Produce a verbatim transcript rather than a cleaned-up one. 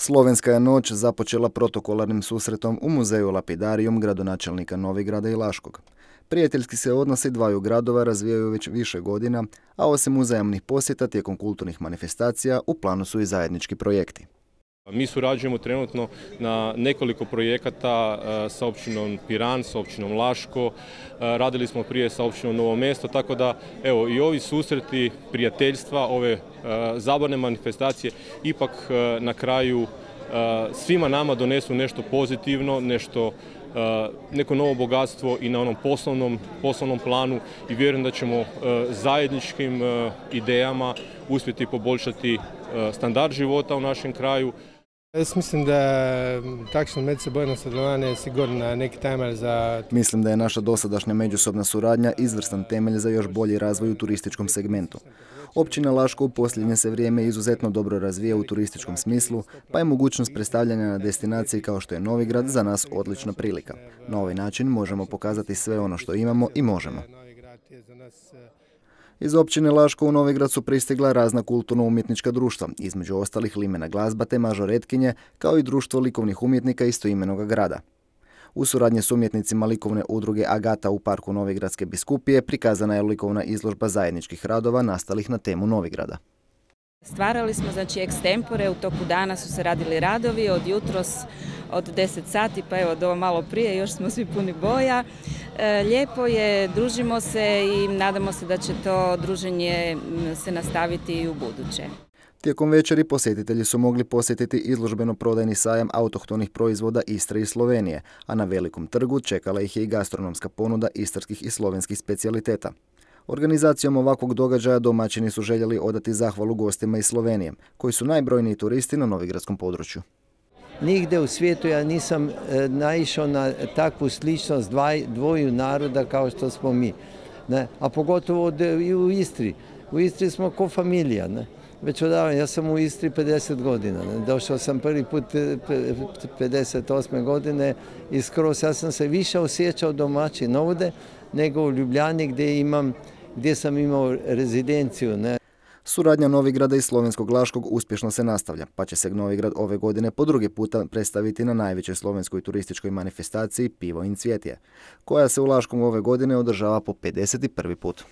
Slovenska je noć započela protokolarnim susretom u muzeju Lapidarijum gradonačelnika Novigrada i Laškog. Prijateljski se odnosi dvaju gradova razvijaju već više godina, a osim uzajamnih posjeta tijekom kulturnih manifestacija u planu su i zajednički projekti. Mi surađujemo trenutno na nekoliko projekata sa općinom Piran, sa općinom Laško, radili smo prije sa općinom Novo Mesto, tako da evo i ovi susreti, prijateljstva, ove zabavne manifestacije ipak na kraju svima nama donesu nešto pozitivno, nešto, neko novo bogatstvo i na onom poslovnom, poslovnom planu i vjerujem da ćemo zajedničkim idejama uspjeti poboljšati standard života u našem kraju. Jaz mislim, da takšno medsebojno sodelovanje je sigurno neki temelj za... Mislim da je naša dosadašnja međusobna suradnja izvrstan temelj za još bolji razvoj u turističkom segmentu. Općina Laško u posljednje se vrijeme izuzetno dobro razvija u turističkom smislu, pa je mogućnost predstavljanja na destinaciji kao što je Novigrad za nas odlična prilika. Na ovaj način možemo pokazati sve ono što imamo i možemo. Iz općine Laško u Novigrad su pristigla razna kulturno-umjetnička društva, između ostalih Limena glazba te Mažoretkinje, kao i društvo likovnih umjetnika istoimenoga grada. U suradnji s umjetnicima likovne udruge Agata u parku Novigradske biskupije prikazana je likovna izložba zajedničkih radova nastalih na temu Novigrada. Stvarali smo, znači, ekstempore, u toku dana su se radili radovi, od jutros od deset sati, pa evo do malo prije, još smo svi puni boja. E, lijepo je, družimo se i nadamo se da će to druženje se nastaviti i u buduće. Tijekom večeri posjetitelji su mogli posjetiti izložbeno-prodajni sajam autohtonih proizvoda Istre i Slovenije, a na Velikom trgu čekala ih je i gastronomska ponuda istarskih i slovenskih specijaliteta. Organizacijom ovakvog događaja domaćini su željeli odati zahvalu gostima iz Slovenije, koji su najbrojniji turisti na novigradskom području. Nigde u svijetu ja nisam e, naišao na takvu sličnost dvaj, dvoju naroda kao što smo mi. Ne? A pogotovo od, i u Istri. U Istri smo ko familija. Ne? Već odavno, ja sam u Istri pedeset godina. Ne? Došao sam prvi put pedeset osme godine i skroz ja sam se više osjećao domaćin ovdje nego u Ljubljani gdje, imam, gdje sam imao rezidenciju. Ne? Suradnja Novigrada i slovenskog Laškog uspješno se nastavlja, pa će se Novigrad ove godine po drugi puta predstaviti na najvećoj slovenskoj turističkoj manifestaciji Pivo in cvjetje, koja se u Laškom ove godine održava po pedeset prvi put.